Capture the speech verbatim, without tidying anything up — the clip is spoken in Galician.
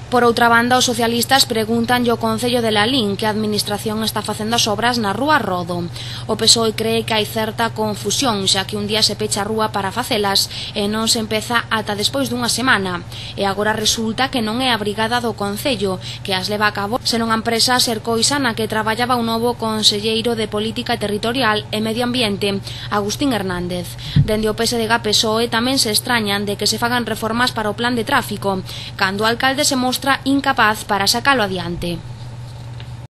Por outra banda, os socialistas preguntanlle ao Concello de Lalín que a Administración está facendo as obras na Rúa Rodo. O P S O E cree que hai certa confusión, xa que un día se pecha a rúa para facelas e non se empeza ata despois dunha semana. E agora resulta que non é a brigada do Concello que as leva a cabo, senón a empresa Sercoisa na que traballaba un novo conselleiro de Política Territorial e Medio Ambiente, Agustín Hernández. Dende o P S D G P S O E tamén se extrañan de que se fagan reformas para o plan de tráfico, cando o alcalde se mostra incapaz para sacalo adiante.